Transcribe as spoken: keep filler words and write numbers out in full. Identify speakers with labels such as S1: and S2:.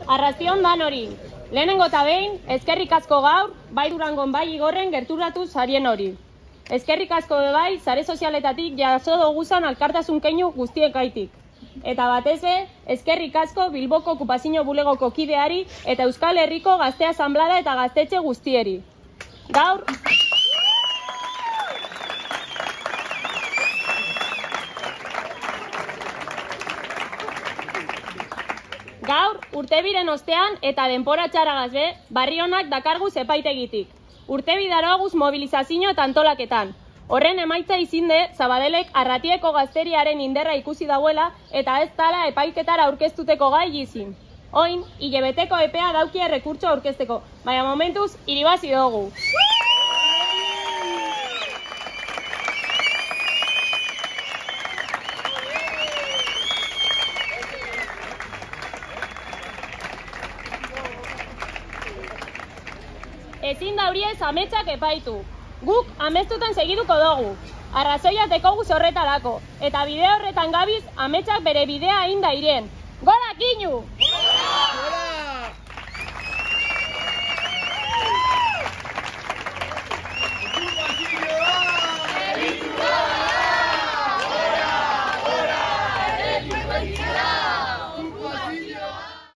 S1: Arrastion dan hori. Lehenengo eta behin, eskerrik asko gaur, bai Durangon bai Igorren gerturatu zarien hori. Eskerrik asko bai, sare sozialetatik jaso doguzan alkartasun keinu guztiekaitik. Eta batez be, eskerrik asko Bilboko okupazio bulegoko kideari eta Euskal Herriko Gazte Asanblada eta gaztetxe guztieri. Gaur... Gaur, urtebiren ostean eta denpora txaragaz be, barri honak dakarguz epaitegitik. Urtebi daroaguz mobilizazio eta antolaketan. Horren emaitza izinde, Zabadelek Arratieko gazteriaren inderra ikusi dauela eta ez tala epaiketara aurkeztuteko gai izin. Oin, hilebeteko epea daukia rekurtso aurkezteko, baina momentuz, iribazi dugu. Ezin dauriez ametsak epaitu. Guk amestutan segiduko dugu. Arrazoia dekogu horretarako. Eta bideo horretan gabiz ametsak bere bidea inda irien. Gola kinu!